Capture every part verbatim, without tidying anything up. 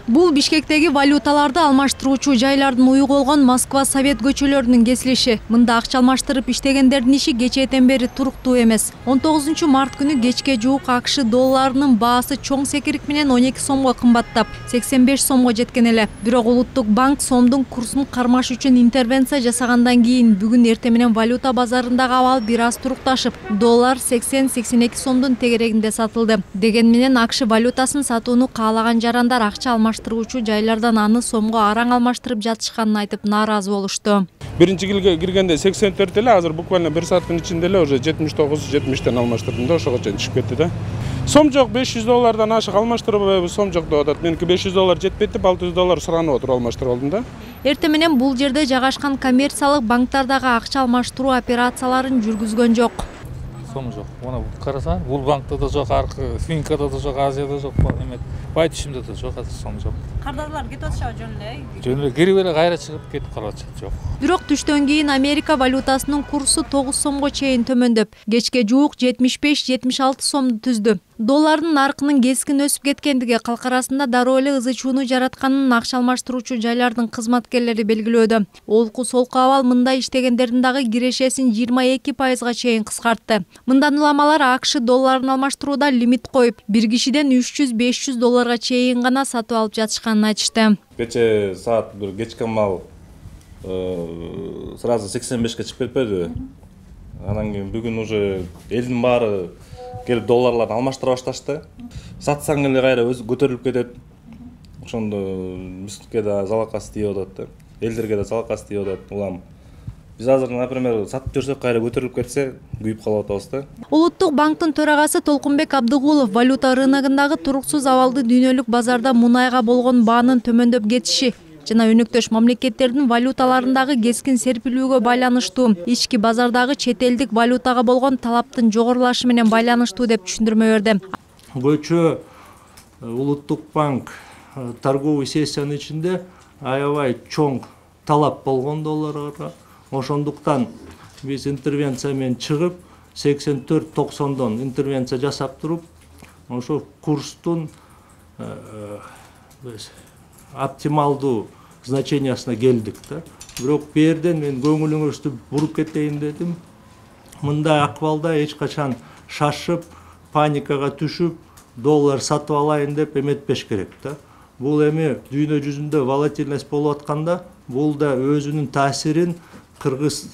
Бул Бишкектеги валюталарды алмаштыруучу жайлардын уйгулгон Москва Совет көчөлөрүнүн кесилиши. Мында акча алмаштырып иштегендердин иши кечээден бери туруктуу эмес. он тогузунчу март күнү кечке жуук АКШ долларынын баасы чоң секирик менен он эки сомго кымбаттап, сексен беш сомго жеткен эле. Бирок Улуттук банк сомдун курсун кармаш үчүн интервенция жасагандан кийин бүгүн эртең менен валюта базарындагы абал бир аз турукташып, доллар сексен сексен эки сомдун тегерегинде сатылды. Деген менен АКШ валютасын сатууну каалаган жарандар акча алмаштыруучу жайлардан аны сомго араң алмаштырып жатышканын айтып нааразы болушту. Биринчи киргенде сексен төрт эле, азыр буквально бир сааттын ичинде эле уже жетимиш тогуз жетимиштен алмаштырдым да, ошого чейин түшүп кетти да. Сом жок, беш жүз доллардан ашык алмаштырбайбы, сом жок деп атат. Меники беш жүз доллар жетпейт деп алты жүз доллар суранып отуруп алмаштырып алдым да. Эртең менен бул жерде жайгашкан коммерциялык банктар дагы акча алмаштыруу операцияларын жүргүзгөн жок. Сом жок. Мына карасаң, бул банкта да жок, аркы Финкада да жок, Азияда жок, эме Байтишимде да жок, азыр сом жок. Кардарлар кетип атышабы жөн эле? Жөн эле кирип эле кайра чыгып кетип калып атышат, жок. Бирок түштөн кийин Америка валютасынын курсу тогуз сомго чейин төмөндөп, кечке жуук жетимиш беш жетимиш алты сомду түздү. Доллардын наркынын кескин өсүп кеткендиги калк арасында дароо эле ызы чууну жаратканын акча алмаштыруучу жайлардын кызматкерлери белгилөөдө. Олку солку абал мындай иштегендердин дагы кирешесин жыйырма эки пайызга чейин кыскартты. Мындан уламалар АКШ долларын алмаштырууда лимит коюп, бир кишиден үч жүз беш жүз долларга чейин гана сатып алып жатышканын айтышты. Кече саат бир кечки мал сразу сексен бешке чыгып кетпеди. Анан кийин бүгүн уже элдин баары келип долларларды алмаштыра башташты. Сатсаң эле кайра өзү көтөрүлүп кетет. Ошондо бизге да залакасы тийип атат да. Элдерге да залакасы тийип атат. Улам биз азыр, например, сатып жүрсөк кайра көтөрүлүп кетсе, күйүп калып атабыз да. Улуттук банктын төрагасы Толкунбек Абдыгулов валюта рыногундагы туруксуз абалды дүйнөлүк базарда мунайга болгон баанын төмөндөп кетиши жана өнөктөш мамлекеттердин валюталарындагы кескин серпилүүгө байланыштуу, ички базардагы чет элдик валютага болгон талаптын жогорулашы менен байланыштуу деп түшүндүрмө берди. Көчө Улуттук банк торговый сессиянын ичинде аябай чоң талап болгон долларга. Ошондуктан биз интервенция менен чыгып, сексен төрт токсондон интервенция жасап туруп, ошо курстун оптималдуу значениясына келдик да. Бирок бу жерден мен көңүлүңүздү буруп кетейин дедим. Мындай акыбалда эч качан шашып, паникага түшүп, доллар сатып алайын деп эметпеш керек да. Бул эми дүйнө жүзүндө волатильность болуп атканда, бул да өзүнүн таасирин кыргыз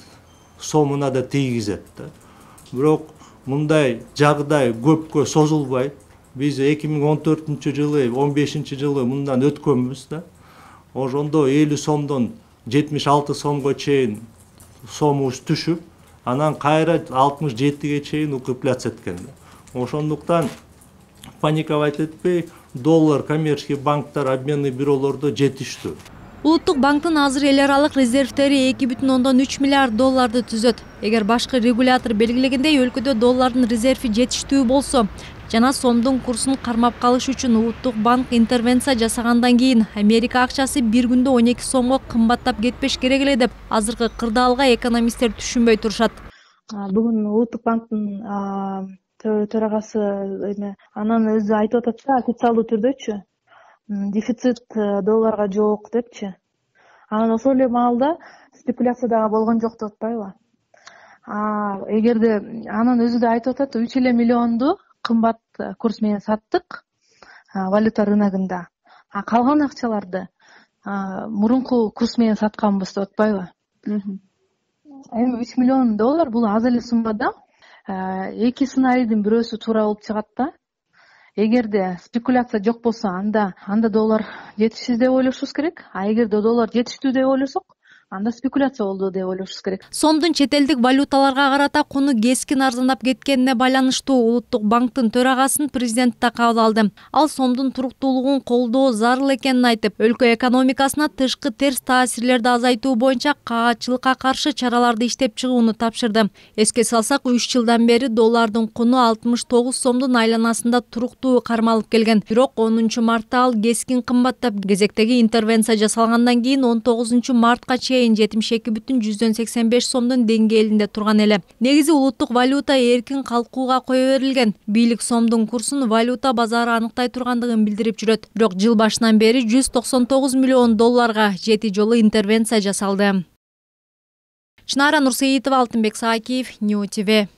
сомуна да тийгизет да. Бирок мындай жагдай көпкө созулбайт. Биз эки миң он төртүнчү жылы, он бешинчи жылы мындан өткөнбүз да. Ошондо элүү сомдон жетимиш алты сомго чейин сомубуз түшүп, анан кайра алтымыш жетиге чейин укрепляться эткен да. Ошондуктан паниковать этпей, доллар коммерческий банктар, обменный бюролордо жетиштүү. Улуттук банктын азыр эл аралык резервтери эки бүтүн ондон үч миллиард долларды түзөт. Эгер башкы регулятор белгилегендей өлкөдө доллардын резерви жетиштүү болсо жана сомдун курсун кармап калыш үчүн Улуттук банк интервенция жасагандан кийин Америка акчасы бир күндө он эки сомго кымбаттап кетпеш керек эле деп азыркы кырдаалга экономисттер түшүнбөй турушат. Бүгүн Улуттук банктын төрагасы эме анан өзү айтып атат да, официалдуу түрдөчү дефицит долларга жок депчи. Анан ошол эле маалда спекуляция дагы болгон жок деп атпайбы? А эгерде анан өзү да айтып атат, үч эле миллионду кымбат курс менен саттык валюта рыногунда. А калган акчаларды мурунку курс менен сатканбыз деп атпайбы? Эми үч миллион доллар бул аз эле сумма да. Эки сценарийдин бирөөсү туура болуп чыгат да. Эгерде спекуляция жок болсо, анда анда доллар жетишсиз деп ойлошубуз керек. А эгерде доллар жетиштүү деп ойлосок, анда спекуляция болду деп ойлошубуз керек. Сомдун чет элдик валюталарга карата куну кескин арзандап кеткенине байланыштуу Улуттук банктын төрагасын президент да кабыл алды. Ал сомдун туруктуулугун колдоо зарыл экенин айтып, өлкө экономикасына тышкы терс таасирлерди азайтуу боюнча каатчылыкка каршы чараларды иштеп чыгууну тапшырды. Эске салсак, үч жылдан бери доллардын куну алтымыш тогуз сомдун айланасында туруктуу кармалып келген. Бирок онунчу мартта ал кескин кымбаттап, кезектеги интервенция жасалгандан кийин он тогузунчу мартка чейин чейин жетимиш эки бүтүн жүздөн сексен беш сомдун деңгээлинде турган эле. Негизи улуттук валюта эркин калкууга кое берилген. Бийлик сомдун курсун валюта базары аныктай тургандыгын билдирип жүрөт. Бирок жыл башынан бери жүз токсон тогуз миллион долларга жети жолу интервенция жасалды. Чынара Нурсеитова, Алтынбек Саакиев, Нью ти ви.